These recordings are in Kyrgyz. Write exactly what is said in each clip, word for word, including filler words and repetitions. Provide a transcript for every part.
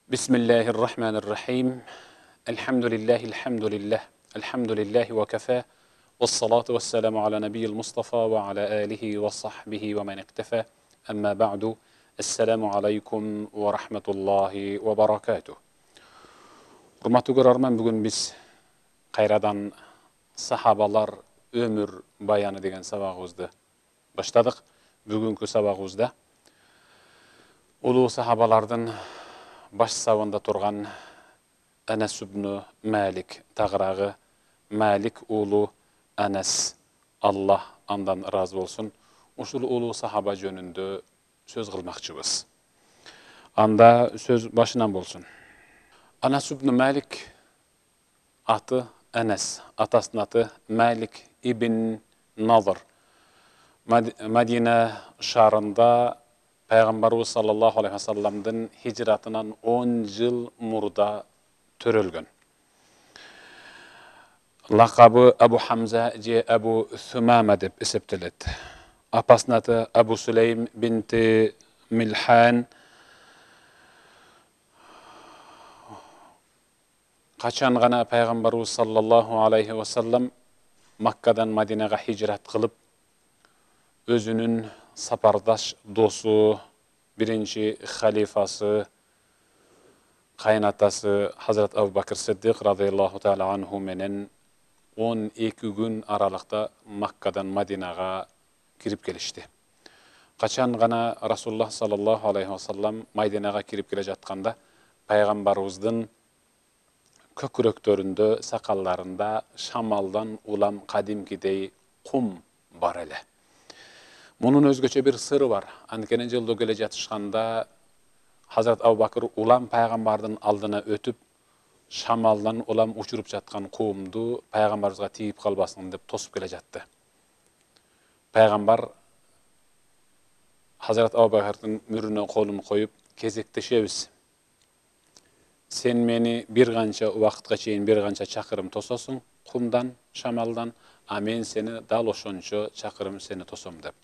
Bismillahirrahmanirrahim. Elhamdülillahi elhamdülillah. Elhamdülillahi ve kafa. Vessalatu vesselamu ala nebiyyil Mustafa ve ala alihi ve sahbihi ve men iktefa. Amma ba'du. Esselamu aleykum ve rahmetullahi ve barakatuh. Hurmatly görärmen, bugün biz kayradan sahabalar ömür bayanı degen sabagыбызды başladık. Bugünkü sabagыбызda uluu sahabalardan baş sawında turgan Anas ibn Malik tagıragı Malik ulu Anas, Allah andan razı bolsun, uşul ulu sahaba jönündө söz kılmakçыбыз. Anda söz başынан bolsun. Anas ibn Malik atı Anas, atasının atı Malik ibn Nadr. Madina şarında Peygamberimiz sallallahu aleyhi ve sellem'den hicratından on yıl murda törölgön. Lakabı Abu Hamza je Abu Thumama dep eseptilet. Apasının adı Abu Süleym binti Milhan. Kaçan gana Peygamberimiz sallallahu aleyhi ve sellem Makka'dan Madine'ye hicrat kılıp özünün sapardaş dostu, birinci halifası, kaynatası Hazret Abu Bakr Siddiq radıyallahu teala anhu menen on iki gün aralıkta Makka'dan Madine'ye kirip gelişti. Kaçan gana Rasulullah sallallahu aleyhi ve sellem Madine'ye kirip gele jatkanda Peygamberimizden köküröktöründө, sakallarında şamaldan ulam kadimkidey kum bar ele. Bunun özgöçe bir sırrı var. Ankenen joldo gele jatышkanda Hazret Abu Bakr ulam Peygamberden aldına ötüp şamaldan ulam uçurup jatkan kumdu Peygamberimizge tiyip kalbasın dep tosup gele jatты. Peygamber Hazret Abu Bakr'ın mürüne kolunu koyup kezekteşebiz. Sen meni bir gança wagtga çeyin bir gança çakırım tososun kumdan, şamaldan, a men seni dal oşonço çakırım seni tosom dep.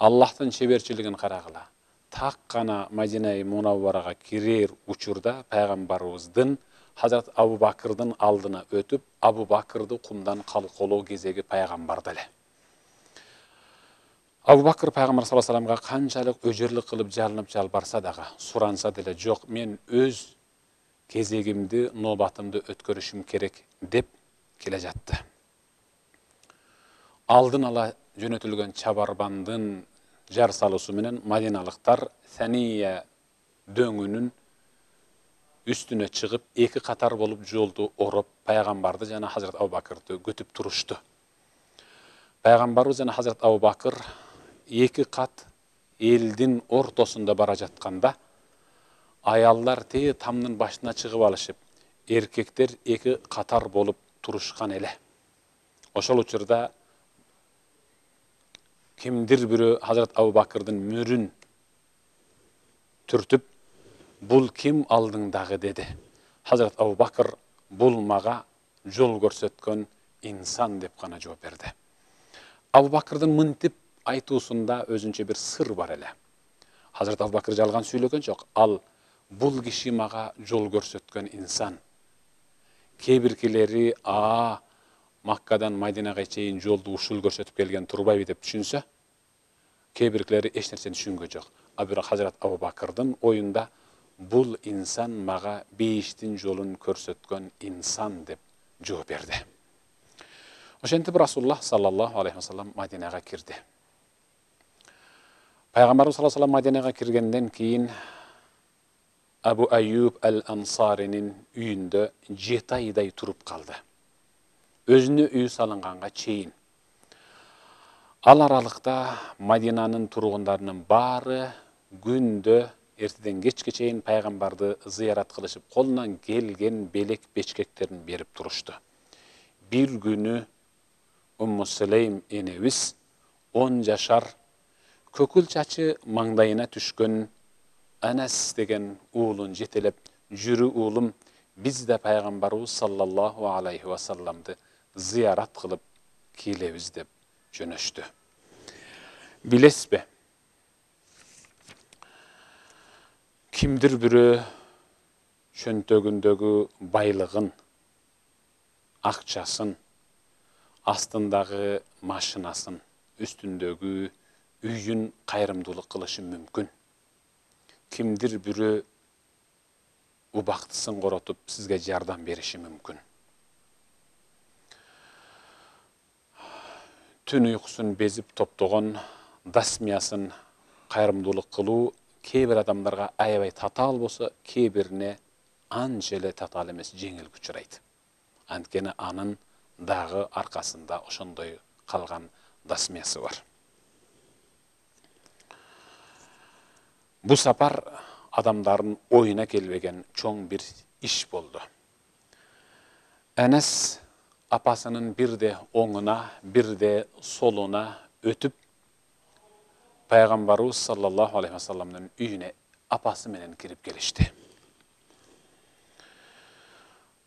Allah'tan çeberçiligin karagıla. Tak gana Madina-i Munawwaraga kirer uçurda Peygamberimizden Hazret Abu Bakr'dın aldına ötüp Abu Bakr'dı kumdan kalkolo gezegi Peygamber dele. Abu Bakr Peygamber sallallahu aleyhi ve sellem'ga kançalık öjerlik kılıp jalınıp jalbarsa daga, suransa dele yok, men öz gezegimdi, nobatımdı ötkörüşüm kerek dep kele jattı. Aldın ala jönötülgön çabarbandın jar salısı menen Madinalıktar Saniye döngünün üstüne çıkıp iki katar bolup joldu orup Peygamberdi jana Hazret Abu Bakr'dı götüp turuştu. Peygamberimiz jana Hazret Abu Bakr iki kat eldin ortosunda bara jatkanda ayallar te tamnın başına çıkıp alışıp erkekler iki katar bolup turuşkan ele. Oşol uçurda kimdir biri Hazret Abu Bakr'dın mürün türtüp bul kim aldığındağı dedi. Hazret Abu Bakr bul maga jol görsetken insan dep gana жооп berdi. Abu Bakr'dın mıntip aytuusunda özünçe bir sır var ele. Hazret Abu Bakr жалган сүйлөгөн жок. Al bul kişi maga jol görsetken insan. Kebirkileri a Makka'dan Madinaga çeyin joldu uşul görsetip kelgen turbayбы dep düşünse, kebirkileri eç nersени düşüngö жок. A biroq Hazret Abu Bakr'dın oyunda bul insan maga beyiştin jolun körsetken insan dep жооп berdi. Oşentip Rasulullah sallallahu aleyhi ve sellem Madinaga kirdi. Peygamberimiz sallallahu aleyhi ve sellem Madinaga kirgenden keyin Abu Ayyub el-Ansari'nin üyünde жетi ayday turup kaldı. Özünü üy salınganга çeyin. Al aralıkta Madinanın turgunlarının bari gündö erteden geçke çeyin Peygamberdi ziyaret kılışıp kolundan gelgen belek beçkeklerini berip turuştu. Bir günü Ummu Süleym enemiz on yaşar kökül çaçı mangdayına düşkön Anas degen uğulun jetelep, jürü uğulum biz de Peygamberimiz sallallahu aleyhi ve sellem'di ziyaret kılıp kilebiz dep jönöştü. Bilesbe? Kimdir biri чөнтөгүндөгү байлыгын, акчасын, астындагы машинасын, үстүндөгү үйүн кайрымдуулук кылышы мүмкүн. Кимдир бирөө убактысын коротуп сизге жардам бериши мүмкүн. Түн уйкусун безип топтогон дасмиясын кайрымдуулук кылуу кээ бир адамдарга аябай татаал болсо, кээ бирине анча эле татаал эмес, жеңил учурайт. Анткени анын дагы аркасында ошондой калган дасмиясы бар. Бу сапар адамдардын оюна келбеген чоң бир иш болду. Энес апасынын бирде оңуна, бирде солуна өтүп, пайгамбарыбыз саллаллаху алейхи вассаламдын үйүнө апасы менен кирип келишти.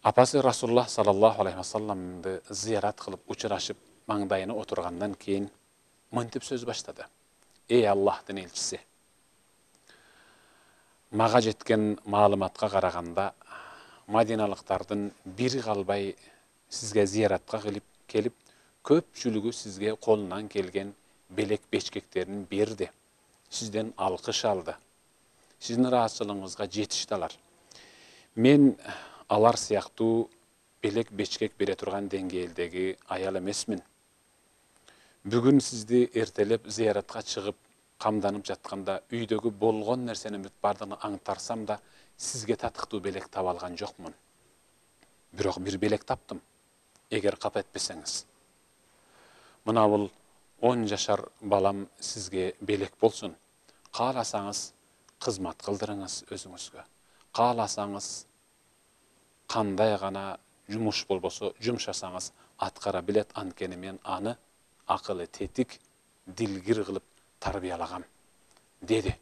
Апасы Расулуллах саллаллаху алейхи вассаламды зыярат кылып учурашып, маңдайына отургандан кийин мынтип сөз баштады. Эй Аллахтын элчиси, мага жеткен маалыматка караганда, мадиналыктардын бири калбай сизге зыяратка келип, көпчүлүгү сизге колунан келген белек бечкектерин берди. Сизден алкыш алды. Сиздин ыраазычылыгыңызга жетишти алар. Мен алар сыяктуу белек бечкек бере турган деңгээлдеги аял эмесмин. Бүгүн сизди эртелеп зыяратка чыгып, камданып жатканда үйдөгү болгон нерсенин бүт бардыгын аңтарсам да, сизге татыктуу белек таба алган жокмун. Бирок бир белек таптым, эгер капа этпесеңиз. Мына бул он жашар балам сизге белек болсун. Кааласаңыз кызмат кылдырыңыз өзүңүзгө. Кааласаңыз кандай гана жумуш болбосо жумшасаңыз аткара билет, анткени мен аны акылы тетик, дилгир кылып тарбиялагам, деди.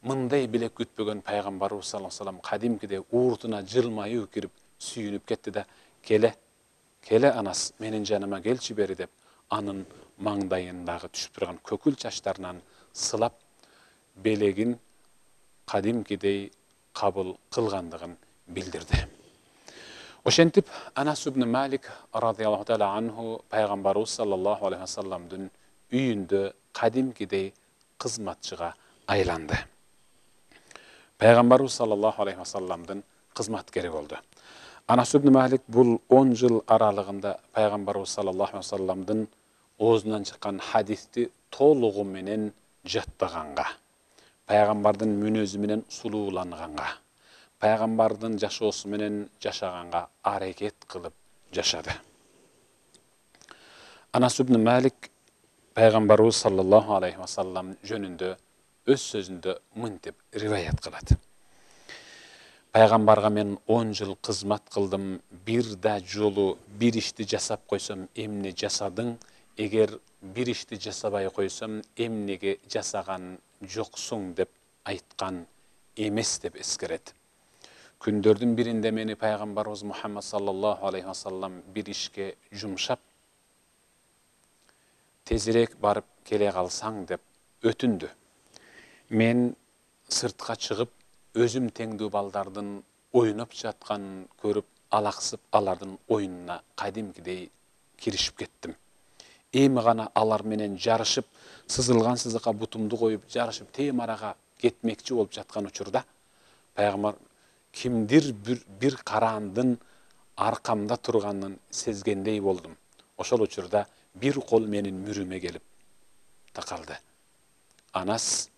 Мындай белек күтпөгөн пайгамбарыбыз саллаллаху алейхи вассалам кадимкиде ууртуна жылмаюу кирип сүйүнүп кетти да, келе, келе анас, менин жаныма келчи бери деп, анын маңдайындагы түшүп турган көкүл чачтарынан сылап, белегин кадимкидей кабыл кылгандыгын билдирди. Ошентип Анас ибн Малик радияллаху таала анху пайгамбарыбыз саллаллаху алейхи вассаламдын үйүндө кадимкидей кызматчыга айланды. Пайгамбарыбыз саллаллаху алейхи вассаламдын кызматкери болду. Анас ибн Малик бул он жыл аралыгында пайгамбарыбыз саллаллаху алейхи вассаламдын оозунан чыккан хадисти толугу менен жаттаганга, пайгамбардын мүнөзү менен сулууланганга, пайгамбардын жашоосу менен жашаганга аракет кылып жашады. Анас ибн Малик пайгамбарыбыз саллаллаху алейхи вассалам жөнүндө өз сөзүндө мынтип риваят кылат. Пайгамбарга мен он жыл кызмат кылдым, бир да жолу бир ишти жасап койсом, эмне жасадың? Эгер бир ишти жасабай койсом, эмнеге жасаган жоксуң деп айткан эмес деп эскерет. Күндөрдүн биринде мени пайгамбарыбыз Мухаммад саллаллаху алейхи вассалам бир ишке жумшап, тезирээк барып келе калсаң деп өтүндү. Мен сыртка чыгып, өзүм теңдүү балдардын ойноп жатканын көрүп, алаксып, алардын оюнуна кадимкидей киришип кеттим. Эми гана алар менен жарышып, сызылган сызыкка бутумду коюп, жарышып тем арага кетмекчи болуп жаткан учурда, пайгамбар кимдир бир, бир караандын аркамда турганын сезгендей болдум. Ошол учурда бир кол менин мүрүмө келип такалды. Анас,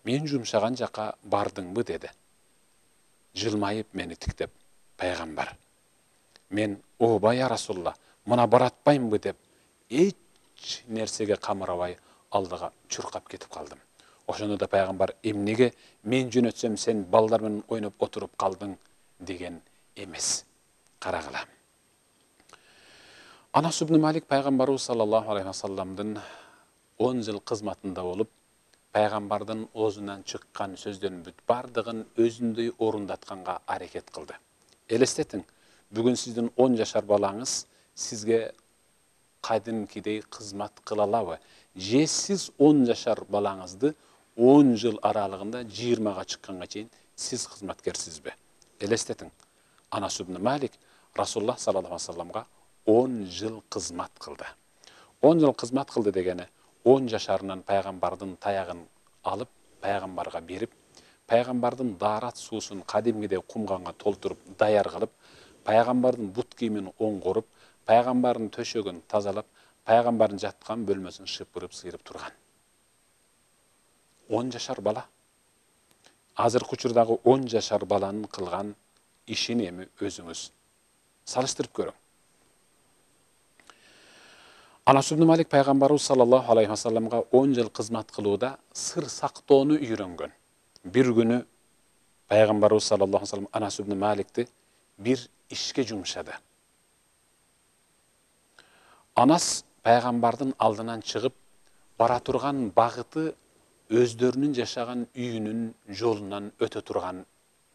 мен жумшаган жака бардыңбы деди. Жылмайып мени тиктеп, пайгамбар, мен ооба я Расулла, мына баратпаймбы деп, эч нерсеге камырабай алдыга чуркап кетип калдым. Ошондо да пайгамбар, эмнеге мен жөнөтсөм сен балдар менен ойноп отуруп калдың деген эмес. Карагыла. Анас ибн Малик пайгамбарыбыз саллаллаху алейхи вассаламдын он жыл кызматында болуп, пайгамбардын оозунан чыккан сөздөрдүн бүт бардыгын өзүндөй орундатканга аракет кылды. Элестетиң, бүгүн сиздин он жашар балаңыз сизге кадимкидей кызмат кыла алабы? Же сиз он жашар балаңызды он жыл аралыгында жыйырмага чыкканга чейин сиз кызматкерсизби? Элестетиң, Анас ибн Малик Расулуллах саллаллаху алейхи ва салламга он жыл кызмат кылды. он жыл кызмат кылды дегени он жашарынан пайгамбардын таягын алып, пайгамбарга берип, пайгамбардын даарат суусун кадимгидей кумганга толтуруп, даяр кылып, пайгамбардын бут кийимин оңгоруп, пайгамбардын төшөгүн тазалап, пайгамбардын жаткан бөлмөсүн шыпырып, сыйрып турган. он жашар бала. Азыркы учурдагы он жашар баланын кылган ишин эми өзүңүз салыштырып көрүң. Анас ибн Малик пайгамбарыбыз саллаллаху алейхи ва салламга он жыл кызмат кылууда сыр сактоону үйрөнгөн. Бир күнү пайгамбарыбыз саллаллаху алейхи ва саллам Анас ибн Маликти бир ишке жумшады. Анас пайгамбардын алдынан чыгып бара турган багыты өздөрүнүн жашаган үйүнүн жолунан өтө турган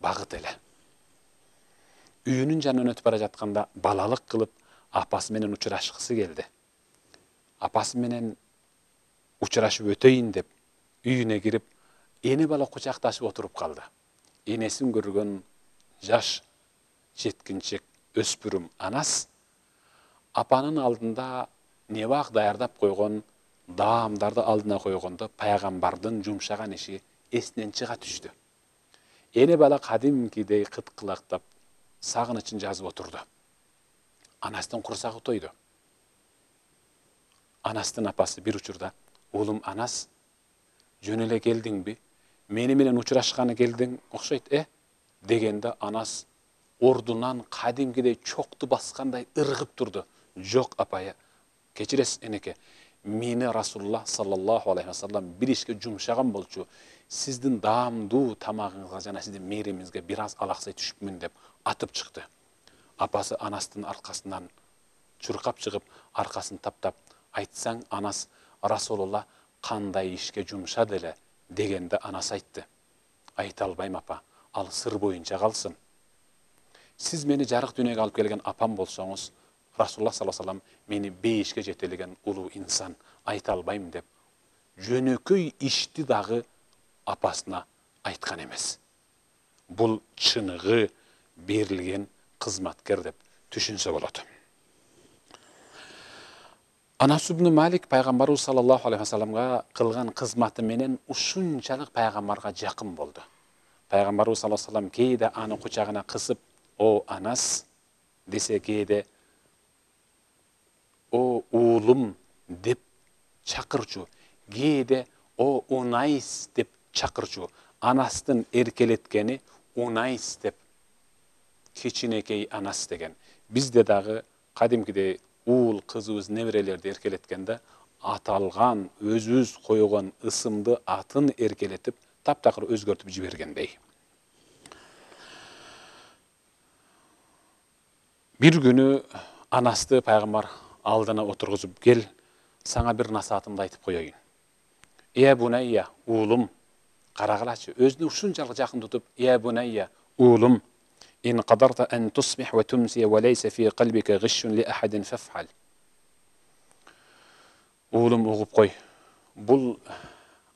багыт эле. Үйүнүн жанынан өтүп бара жатканда балалык кылып апасы менен учурашкысы келди. Апасы менен учурашып өтөйүн деп үйүнө кирип, эне бала кучакташып отуруп калды. Энесин көргөн жаш жеткинчек өспүрүм Анас апанын алдында небак даярдап койгон даамдарды алдына койгондо пайгамбардын жумшаган иши эсинен чыга түштү. Эне бала кадимкидей кыткылактап, сагынычын жазып отурду. Анастын курсагы тойду. Анастын апасы бир учурда: "Уулум Анас, жөн эле келдиңби? Мени менен учурашканы келдиң окшойт, э?" дегенде Анас ордунан кадимкидей чокту баскандай ыргып турду. "Жок апайы, кечиресиз энеке. Мени Расулуллах саллаллаху алейхи ва саллам бир ишке жумшаган болчу. Сиздин даамдуу тамагыңызга жана сиздин мээримиңизге бир аз алаксай түшүпмүн" деп атып чыкты. Апасы Анастын аркасынан чуркап чыгып, аркасын таптап: "Айтсаң, Анас, Расулулла кандай ишке жумшады эле?" дегенде Анас айтты: "Айта албайм апа, ал сыр боюнча калсын. Сиз мени жарык дүйнөгө алып келген апам болсоңуз, Расулулла саллаллаху алейхи ва саллам мени бейишке жетелеген улуу инсан, айта албайм" деп жөнөкөй ишти дагы апасына айткан эмес. Бул чыныгы берилген кызматкер деп түшүнсө болот. Анас ибн Малик пайгамбарыбыз саллаллаху алейхи ва салламга кылган кызматы менен ушунчалык пайгамбарга жакын болду. Пайгамбарыбыз саллаллаху алейхи ва саллам кээде аны кучагына кысып: "О Анас" десе, кээде "О уулум" деп чакырчу, кээде "О Унайс" деп чакырчу. Анастын эркелеткени Унайс деп, кичинекей Анас деген. Бизде дагы кадимкидей уул кызыбыз, неберелерди эркелеткенде аталган өзүбүз койгон ысымды атын эркелетип, таптакыр өзгөртүп жибергендей. Бир күнү Анасты пайгамбар алдына отургузуп: "Кел, сага бир насаатымды айтып коеюн. Э бунайя, уулум", карагылачы, өзүнө ушунчалык жакын тутуп: "Э бунайя, уулум, ин qadarta an tusbih wa tumsi wa laysa fi qalbika ghishun li ahadin faf'al." Уулум, угуп кой. Бул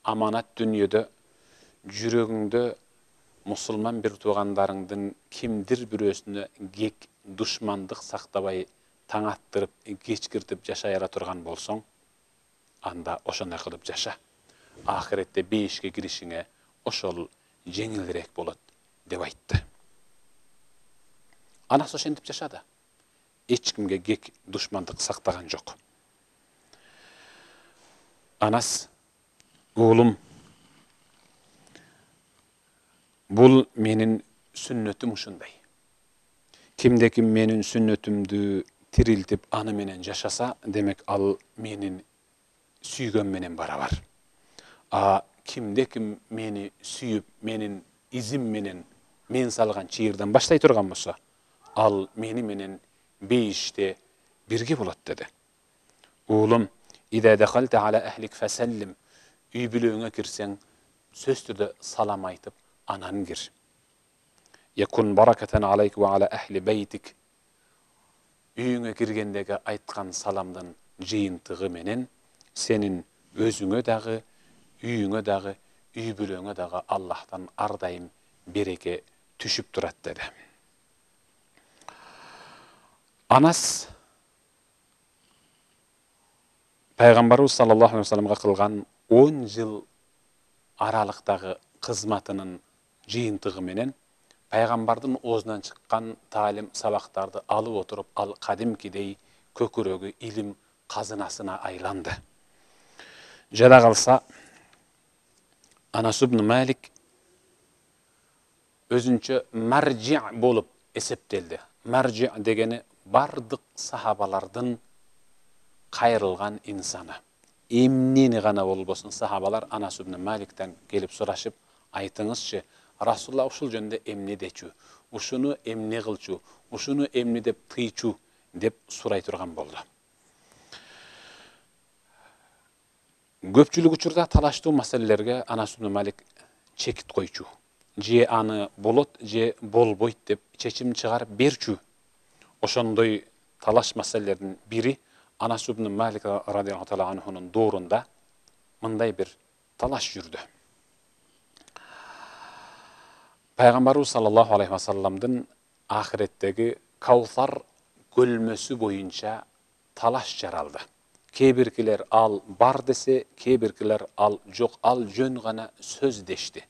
аманат дүнүйөдө жүрөгүңдө мусулман бир туугандарыңдын кимдир бирөөсүнө кек, душмандык сактабай, таң аттырып, кечкиртип жашай ала турган болсоң, анда ошондой кылып жаша. Ахиретте бейишке киришиңе ошол жеңилирээк болот деп айтты. Анас ошентип жашады. Эч кимге кек, душмандык сактаган жок. Анас: "Уулум, бул менин сүннөтүм ушундай. Кимде ким менин сүннөтүмдү тирилтип, аны менен жашаса, демек ал менин сүйгөн менен барабар. А кимде ким мени сүйүп, менин изим менен мен салган чыйырдан баштай турган болсо, ал мени менен бейиште бирге болот" деди. "Уулум, ида дахалта ала ахлик фасаллим", үй бүлөңө кирсең, сөз түрдө салам айтып, анан кир. "Якун баракатан алейк ва ала ахли бейтик", үйүңө киргендеги айткан саламдын жыйынтыгы менен сенин өзүңө дагы, үйүңө дагы, үй бүлөңө дагы Аллахтан ар дайым береке түшүп турат деди. Анас пайгамбарыбыз саллаллаху алейхи вассаламга кылган он жыл аралыктагы кызматынын жыйынтыгы менен пайгамбардын оозунан чыккан таалим сабактарды алып отуруп, ал кадимкидей көкүрөгү илим казынасына айланды. Жада калса Анас ибн Малик өзүнчө маржи болуп эсептелди. Маржи дегени бардык сахабалардын кайрылган инсаны. Эмнени гана болбосун сахабалар Анас ибн Маликтен келип сурашып, айтыңызчы, Расулла ушул жөнүндө эмне дечү, ушуну эмне кылчу, ушуну эмне деп тыйчу деп сурай турган болду. Көпчүлүк учурда талаштуу маселелерге Анас ибн Малик чекит койчу. Же аны болот, же болбойт деп чечим чыгарып берчү. Ошондой талаш маселелердин бири Анас ибн Малик радиаллаху таала анхунун доорунда мындай бир талаш жүрдү. Пайгамбарыбыз саллаллаху алейхи вассаламдын ахиреттеги Каусар көлмөсү боюнча талаш жаралды. Кээ биркилер ал бар десе, кээ биркилер ал жок, ал жөн гана сөз дешти.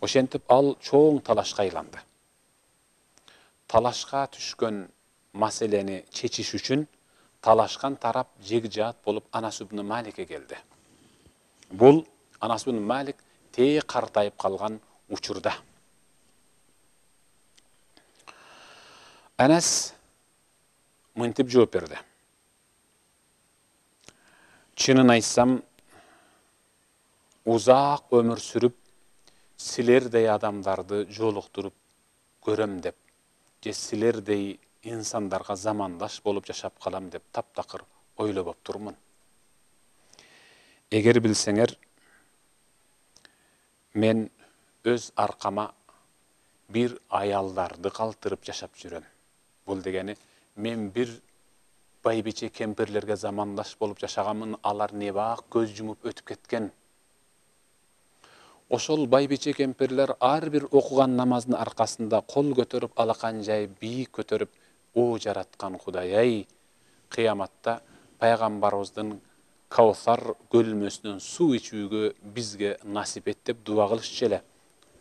Ошентип ал чоң талашка айланды. Талашка түшкөн маселени чечиш үчүн талашкан тарап жегжаат болуп Анас ибн Маликке келди. Бул Анас ибн Малик тээ картайып калган учурда. Анас мынтип жооп берди. Чынын айтсам, узак өмүр сүрүп, силердей адамдарды жолуктуруп көрөм деп, же силердей инсандарга замандаш болуп жашап калам деп таптакыр ойлоп турмун. Эгер билсеңер, мен өз аркама бир аялдарды калтырып жашап жүрөм. Бул дегени, мен бир байбиче кемпирлерге замандаш болуп жашаганмын, алар небак көз жумуп өтүп кеткен. Ошол байбиче кемпирлер ар бир окуган намаздын аркасында кол көтөрүп, алакан жай бийик көтөрүп, о жараткан Кудай-ай, кыяматта пайгамбарыбыздын Каусар көлмөсүнөн суу ичүүгө бизге насип эт деп дуа кылышчу эле.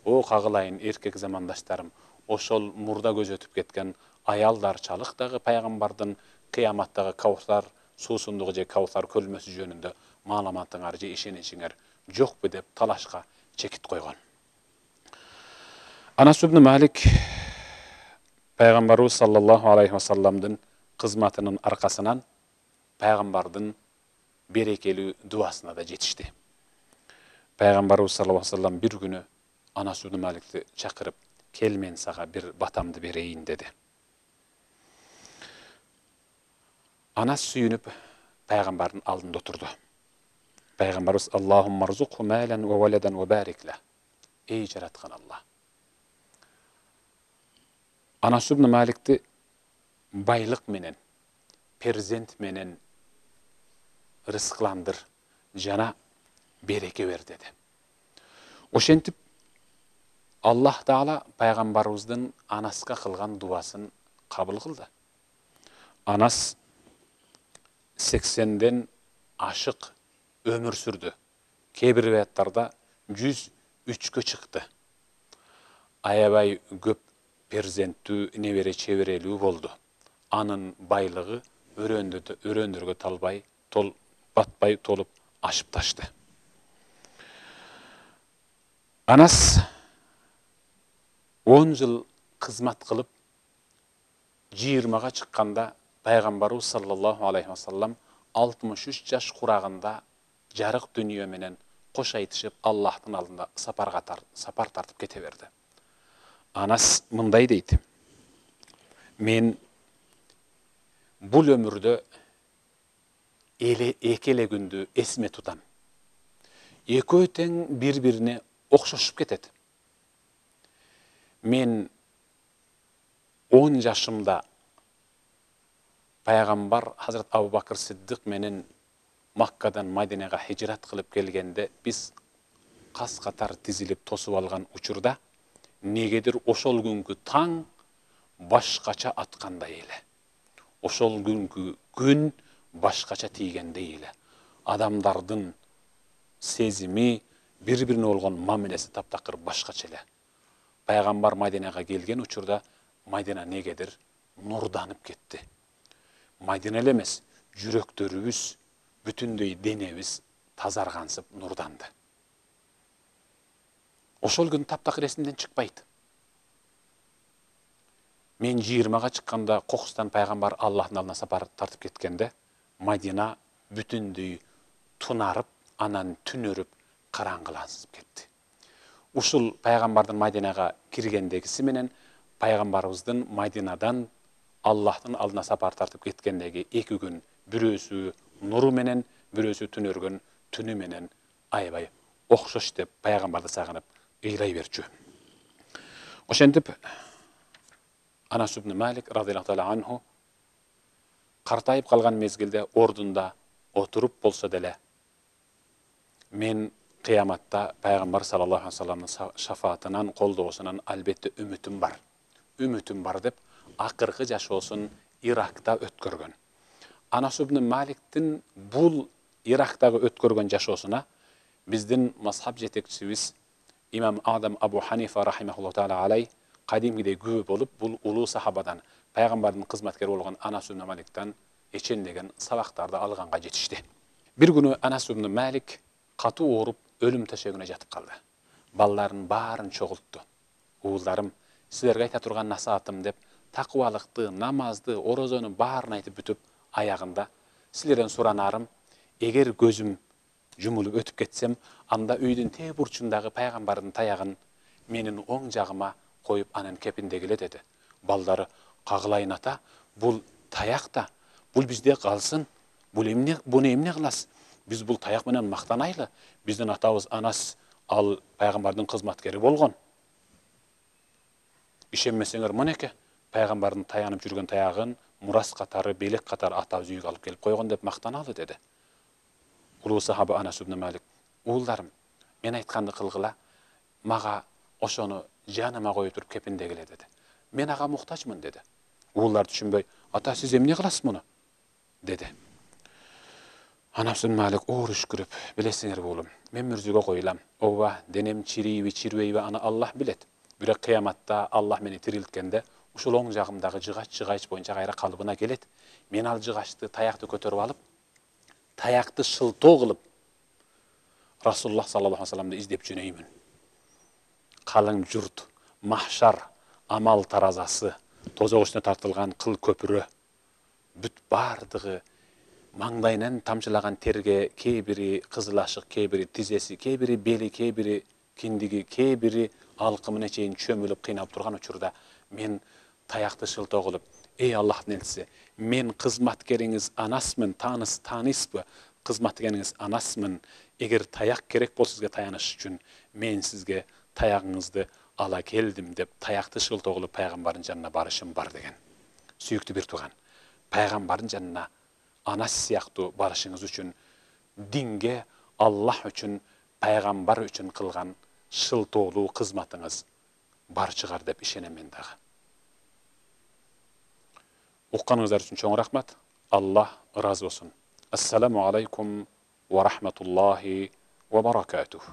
О кагылайын эркек замандаштарым, ошол мурда көз өтүп кеткен аялдарчалык дагы пайгамбардын кыяматтагы Каусар суусундугу же Каусар көлмөсү жөнүндө маалыматыңар же ишеничиңер жокпу деп талашка чекит койгон. Анас ибн Малик пайгамбарыбыз саллаллаху алейхи вассаламдын кызматынын аркасынан пайгамбардын берекелүү дуасына да жетишти. Пайгамбарыбыз саллаллаху алейхи вассалам бир күнү Анас ибн Маликти чакырып, кел мен сага бир батамды берейин деди. Анас сүйүнүп пайгамбардын алдында отурду. Пайгамбарыбыз Аллахумма рзукху малан ва валадан ва барик ла. Эй жараткан Алла. Анас ибн Маликти байлык менен, перзент менен рызыкландыр, жана береке бер деди. Ошентип Аллах Таала пайгамбарыбыздын Анаска кылган дуасын кабыл кылды. Анас сексенден ашык өмүр сүрдү. Кээ бир риwаяттарда жүз үчкө чыкты. Аябай көп перзенттүү, небере чеберелүү болду. Анын байлыгы өрөөндөргө талбай, тол батпай толуп ашып ташты. Анас он жыл кызмат кылып, жыйырмага чыкканда пайгамбарыбыз саллаллаху алейхи вассалам алтымыш үч жаш курагында жарык дүнүйө менен кош айтышып Аллахтын алдында сапарга сапар тартып кете берди. Анас мындай дейт: мен бул өмүрдө эле эки эле күндү эсиме тутам. Экөө тең бири-бирине окшошуп кетет. Мен он жашымда пайгамбар Хазрат Абу Бакыр Сиддик менен Маккадан Мадинага хижрат кылып келгенде, биз кас катар тизилип тосуп алган учурда негедир ошол күнгү таң башкача аткандай эле. Ошол күнгү күн башкача тийгендей эле. Адамдардын сезими, бири-бирине болгон мамилеси таптакыр башкача эле. Пайгамбар Мадинага келген учурда Мадина негедир нурданып кетти. Мадина эле эмес, жүрөктөрүбүз, бүтүндөй денебиз тазаргансып нурданды. Ошол күн таптакыр эсимден чыкпайт. Мен жыйырмага чыкканда Кокустан пайгамбар Аллахтын алдына сапар тартып кеткенде, Мадина бүтүндөй тунарып, анан түнөрүп, караңгыланып кетти. Ушул пайгамбардын Мадинага киргендегиси менен пайгамбарыбыздын Мадинадан Аллахтын алдына сапар тартып кеткендеги эки күн, бирөөсү нуру менен, бирөөсү түнөргөн түнү менен аябай окшош деп пайгамбарды сагынып ыйлай берчү. Ошентип Анас ибн Малик радиаллаху таала анху картайып калган мезгилде ордунда отуруп болсо деле мен кыяматта пайгамбар саллаллаху алейхи вассаламдын шафаатынан, колдоосунан албетте үмүтүм бар. Үмүтүм бар деп акыркы жашоосун Иракта өткөргөн. Анас ибн Маликтин бул Ирактагы өткөргөн жашоосуна биздин мазхаб жетекчибиз имам Адам Абу Ханифа рахимахуллаху таала алей кадимгидей күбө болуп, бул улуу сахабадан, пайгамбардын кызматкери болгон Анас ибн Маликтен эчендеген сабактарды алганга жетишти. Бир күнү Анас ибн Малик катуу ооруп, өлүм төшөгүнө жатып калды. Балларын баарын чогултту. Уулдарым, силерге айта турган насаатым деп, такыбалыкты, намазды, орозону баарын айтып бүтүп, аягында силерден суранарым, эгер көзүм жумулуп өтүп кетсем, анда үйдүн тээ бурчундагы пайгамбардын таягын менин оң жагыма коюп анан кепиндегиле деди. Балдары, кагылайын ата, бул таякта, бул бизде калсын, бул эмне, буну эмне кыласыз? Биз бул таяк менен мактанайлы. Биздин атабыз Анас ал пайгамбардын кызматкери болгон. Ишенмесеңер мынеке, пайгамбардын таянып жүргөн таягын мурас катары, белек катары атабыз үйгө алып келип койгон деп мактаналы деди. Улуу сахаба Анас ибн Малик, уулдарым, мен айтканды кылгыла, мага ошону жаныма коюп туруп кепиндегиле деди. Мен ага муктажмын деди. Уулдар түшүнбөй, ата сиз эмне кыласыз муну? деди. Анас ибн Малик оор үшкүрүп, билесиңер уулум, мен мүрзөгө коюлам. Ооба, денем чирийби, чирбейби, аны Аллах билет. Бирок кыяматта Аллах мени тирилткенде, ушул оң жагымдагы жыгач жыгач боюнча кайра калыбына келет. Мен ал жыгачты, таякты көтөрүп алып, таякты шылтоо кылып, Расулуллах саллаллаху алейхи вассаламды издеп жөнөймүн. Калың журт, махшар, амал таразасы, тозок үстүнө тартылган кыл көпүрө, бүт бардыгы маңдайынан тамчылаган терге, кээ бири кызыл ашык, кээ бири тизеси, кээ бири бели, кээ бири киндиги, кээ бири алкымына чейин чөмүлүп кыйнап турган учурда мен таякты шылтоо кылып, эй Аллахтын элчиси, мен кызматкериңиз Анасмын, тааныс таанысбы? Кызматкериңиз Анасмын. Эгер таяк керек болсо сизге таяныш үчүн мен сизге таягыңызды ала келдим деп таякты шылтоо кылып пайгамбардын жанына барышым бар деген. Сүйүктүү бир тууган, пайгамбардын жанына Анас сыяктуу барышыңыз үчүн динге, Аллах үчүн, пайгамбар үчүн кылган шылтоолуу кызматыңыз бар чыгар деп ишенем мен дагы. Укканыңыздар үчүн чоң рахмат. Аллах ыраазы болсун. Ассаламу алейкум ва рахматуллахи ва баракатух.